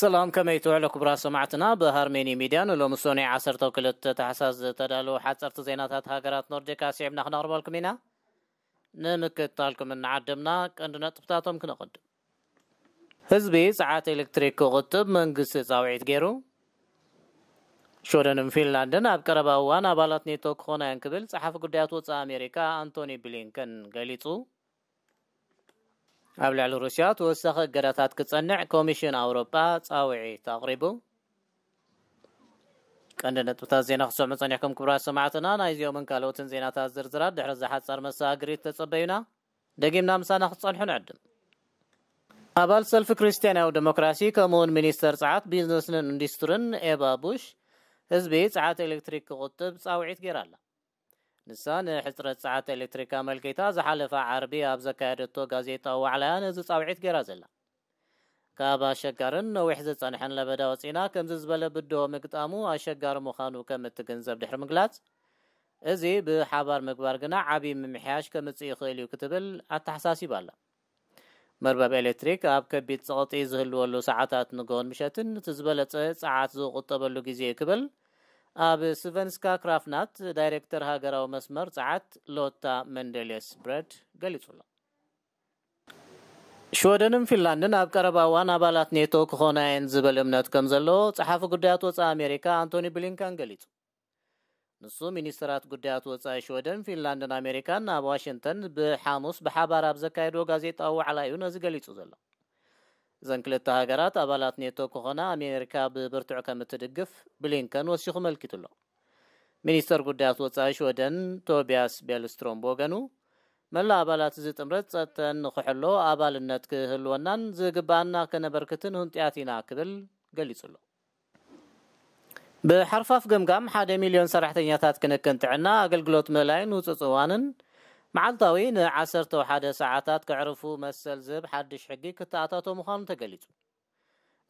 ሰላም፣ ከመይ ትውዕሉ ክቡራት ሰማዕትና? ብሃርሜኒ ሚድያ ንሎሚ ሶኔ ዓሰርተ ክልተ ታሕሳስ ዝተዳለዉ ሓፀርቲ ዜናታት ሃገራት ኖርዲክ ኣስዒብና ክነቕርበልኩም ኢና። ንምክትታልኩም እናዓደምና ቀንዲ ነጥብታቶም ክነቐድም። ህዝቢ ጸዓት ኤሌክትሪክ ክቑጥብ መንግስቲ ጻውዒት ገይሩ። ሽወደንን ፊንላንድን ኣብ ቀረባ እዋን ኣባላት ኔቶ ክኾና እየን ክብል ጸሓፊ ጉዳያት ወጻኢ ኣሜሪካ ኣንቶኒ ብሊንከን ገሊጹ። ኣብ ልዕሊ ሩስያ ተወሳኺ እገዳታት ክጸንዕ ኮሚሽን ኣውሮጳ ጻውዒት ኣቕሪቡ። ቀንዲ ነጥብታት ዜና ክትሰምዑ ጸኒሕኩም ክቡራት ሰማዕትና። ናይዚኦምን ካልኦትን ዜናታት ዝርዝራት ድሕሪ እዛ ሓጻር መሰጋገሪት ተጸበዩና። ደጊምና ምሳና ክትጸንሑ ንዕድም። ኣባል ሰልፊ ክርስትያናዊ ዴሞክራሲ ከምኡውን ሚኒስተር ጸዓት ቢዝነስን ኢንዱስትርን ኤባ ቡሽ ህዝቢ ጸዓት ኤሌክትሪክ ክቑጥብ ጻውዒት ገይራ ኣላ። ንሳ ንሕጽረት ጸዓት ኤሌክትሪክ ኣመልኪታ ዝሓለፈ ዓርቢ ኣብ ዘካየደቶ ጋዜጣዊ ዋዕላያ ነዚ ጻውዒት ገይራ ዘላ። ካብ ኣሸጋርን ነዊሕ ዝጸንሐን ለበዳ ወጺና ከምዚ ዝበለ ብድሆ ምግጣሙ ኣሸጋሪ ምዃኑ ከም እትግንዘብ ድሕሪ ምግላጽ፣ እዚ ብሓባር ምግባር ግና ዓቢ ምምሕያሽ ከምጽእ ይኽእል እዩ ክትብል ኣተሓሳሲባ ኣላ። መርበብ ኤሌክትሪክ ኣብ ከቢድ ጸቕጢ ዝህልወሉ ሰዓታት ንግሆን ምሸትን እቲ ዝበለጸ ጸዓት ዝቑጠበሉ ግዜ እዩ ክብል ኣብ ስቨንስካ ክራፍናት ዳይሬክተር ሃገራዊ መስመር ጸዓት ሎታ መንደሌስ ብረድ ገሊጹ ኣሎ። ሽወደንን ፊንላንድን ኣብ ቀረባ እዋን ኣባላት ኔቶ ክኾና እየን ዝብል እምነት ከም ዘሎ ጸሓፊ ጉዳያት ወጻኢ ኣሜሪካ ኣንቶኒ ብሊንከን ገሊጹ። ንሱ ሚኒስትራት ጉዳያት ወጻኢ ሽወደን፣ ፊንላንድን ኣሜሪካን ኣብ ዋሽንግተን ብሓሙስ ብሓባር ኣብ ዘካየድዎ ጋዜጣዊ ዋዕላ እዩ ነዚ ገሊጹ ዘሎ። እዘን ክልተ ሃገራት ኣባላት ኔቶ ክኾና ኣሜሪካ ብብርቱዕ ከም እትድግፍ ብሊንከን ወሲኹ መልኪቱ ኣሎ። ሚኒስተር ጉዳያት ወጻኢ ሽወደን ቶቢያስ ቤልስትሮም ብወገኑ፣ መላእ ኣባላት እዚ ጥምረት ጸጥተን ንኽሕሎ ኣባልነት ክህልወናን ዝግባኣና ከነበርክትን ህንጡያት ኢና ክብል ገሊጹ ኣሎ። ብሓርፋፍ ገምጋም ሓደ ሚልዮን ሰራሕተኛታት ክንክን ጥዕና ኣገልግሎት ምእላይን ውጽጽ እዋንን መዓልታዊ ንዓሰርተ ሓደ ሰዓታት ከዕርፉ መሰል ዝህብ ሓድሽ ሕጊ ክተኣታቶ ምዃኑ ተገሊጹ።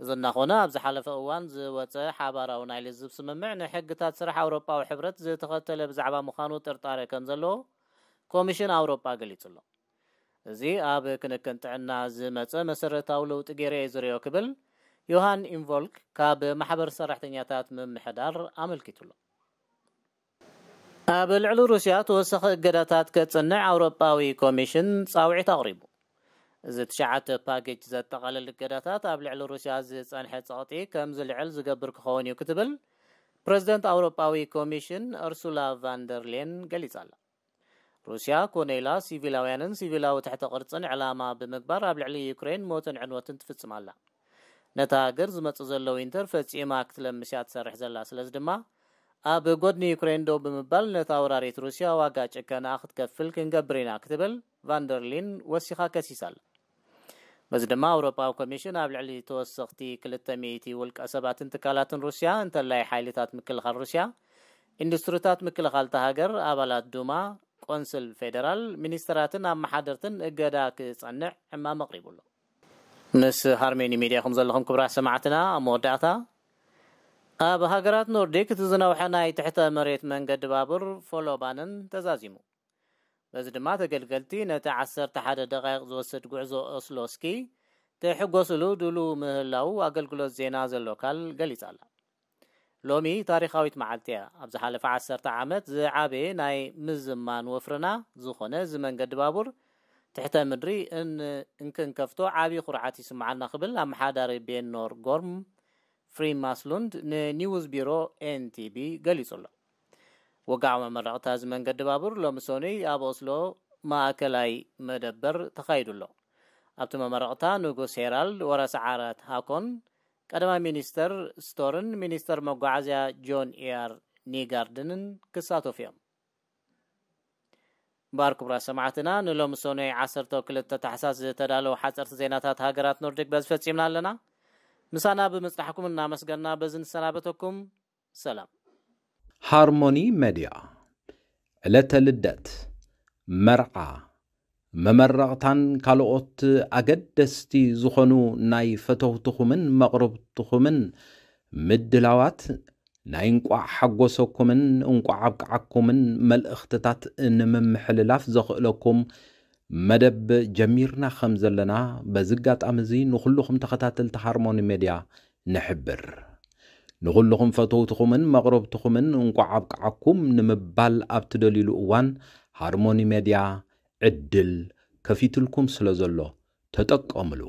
እዚ እናኾነ ኣብ ዝሓለፈ እዋን ዝወጸ ሓባራዊ ናይ ልዝብ ስምምዕ ንሕግታት ስራሕ ኣውሮጳዊ ሕብረት ዝተኸተለ ብዛዕባ ምዃኑ ጥርጣረ ከም ዘለዎ ኮሚሽን ኣውሮጳ ገሊጹ ኣሎ። እዚ ኣብ ክንክን ጥዕና ዝመጸ መሰረታዊ ለውጢ ገይረ እየ ዝርእዮ ክብል ዮሃን ኢንቮልክ ካብ ማሕበር ሰራሕተኛታት ምምሕዳር ኣመልኪቱ ኣሎ። ኣብ ልዕሊ ሩስያ ተወሳኺ እገዳታት ከጽንዕ ኣውሮጳዊ ኮሚሽን ጻውዒት ኣቕሪቡ። እዚ ትሽዓተ ፓኬጅ ዘጠቓልል እገዳታት ኣብ ልዕሊ ሩስያ ዝጸንሐ ጸቕጢ ከም ዝልዕል ዝገብር ክኸውን እዩ ክትብል ፕረዚደንት ኣውሮጳዊ ኮሚሽን ኡርሱላ ቫንደርሌን ገሊጻ ኣላ። ሩስያ ኮነ ኢላ ሲቪላውያንን ሲቪላዊ ትሕተ ቅርጽን ዕላማ ብምግባር ኣብ ልዕሊ ዩክሬን ሞትን ዕንወትን ትፍጽም ኣላ። ነታ ሃገር ዝመጽእ ዘሎ ዊንተር ፈጺማ ክትለምስ እያ ትሰርሕ ዘላ። ስለዚ ድማ ኣብ ጎድኒ ዩክሬን ደው ብምባል ነታ ወራሪት ሩስያ ዋጋ ጭከና ክትከፍል ክንገብር ኢና ክትብል ቫንደርሊን ወሲኻ ከሲሳ ኣላ። በዚ ድማ ኣውሮጳዊ ኮሚሽን ኣብ ልዕሊ ተወሰኽቲ ክልተ ሚእቲ ውልቀ ሰባትን ትካላትን ሩስያ እንተላይ ሓይልታት ምክልኻል ሩስያ፣ ኢንዱስትሪታት ምክልኻል እታ ሃገር፣ ኣባላት ዱማ፣ ቆንስል ፌደራል፣ ሚኒስተራትን ኣመሓደርትን እገዳ ክጸንዕ ዕማም ኣቕሪቡ ኣሎ። ምስ ሃርሜኒ ሚድያ ኢኹም ዘለኹም ክቡራት ሰማዕትና። ኣብ መወዳእታ፣ ኣብ ሃገራት ኖርዲክ እቲ ዝነውሐ ናይ ትሕተ መሬት መንገዲ ባቡር ፎሎባንን ተዛዚሙ። በዚ ድማ ተገልገልቲ ነቲ ዓሰርተ ሓደ ደቓይቕ ዝወስድ ጉዕዞ ኦስሎ ስኪ ክሕጎስሉ ድሉው ምህላዉ ኣገልግሎት ዜና ዘሎካል ገሊጻ ኣላ። ሎሚ ታሪኻዊት መዓልቲ እያ። ኣብ ዝሓለፈ ዓሰርተ ዓመት ዝዓበየ ናይ ምዝማን ወፍርና ዝኾነ እዚ መንገዲ ባቡር ትሕተ ምድሪ እን-፣ እንክንከፍቶ ዓቢ ኩርዓት ይስምዓና ክብል ኣመሓዳሪ ቤኖር ጎርም ፍሪማስሉንድ ንኒውስ ቢሮ ኤን ቲ ቢ ገሊጹ ኣሎ። ወግዓዊ መመረቕታ እዚ መንገዲ ባቡር ሎሚ ሰኑይ ኣብ ኦስሎ ማእከላይ መደበር ተኻይዱ ኣሎ። ኣብቲ መመረቕታ ንጉስ ሄራልድ ወረስዓራት ሃኮን፣ ቀዳማይ ሚኒስተር ስቶርን ሚኒስተር መጓዓዝያ ጆን ኢኣር ኒጋርድንን ክሳተፉ እዮም። እምበኣር ክቡራት ሰማዕትና፣ ንሎሚ ሰኑይ ዓሰርተ ክልተ ታሕሳስ ዝተዳለዉ ሓጸርቲ ዜናታት ሃገራት ኖርዲክ በዚ ፈጺምና ኣለና። ምሳና ብምጽናሕኩም እናመስገንና በዚ ንሰናበተኩም። ሰላም። ሃርሞኒ መድያ፣ ዕለተ ልደት፣ መርዓ፣ መመረቕታን ካልኦት ኣገደስቲ ዝኾኑ ናይ ፈተውትኹምን መቕርብትኹምን ምድላዋት ናይ እንቋዕ ሓጎሰኩምን እንቋዕ ኣብቅዓኩምን መልእኽትታት ንምምሕልላፍ ዘኽእለኩም መደብ ጀሚርና ከም ዘለና በዚ ኣጋጣሚ እዚ ንኹልኹም ተኸታተልቲ ሃርሞኒ ሜድያ ንሕብር። ንኹልኹም ፈተውትኹምን መቕረብትኹምን እንቋዕ ኣብቅዓኩም ንምባል ኣብ ትደልዩሉ እዋን ሃርሞኒ ሜድያ ዕድል ከፊትልኩም ስለ ዘሎ ተጠቀምሉ።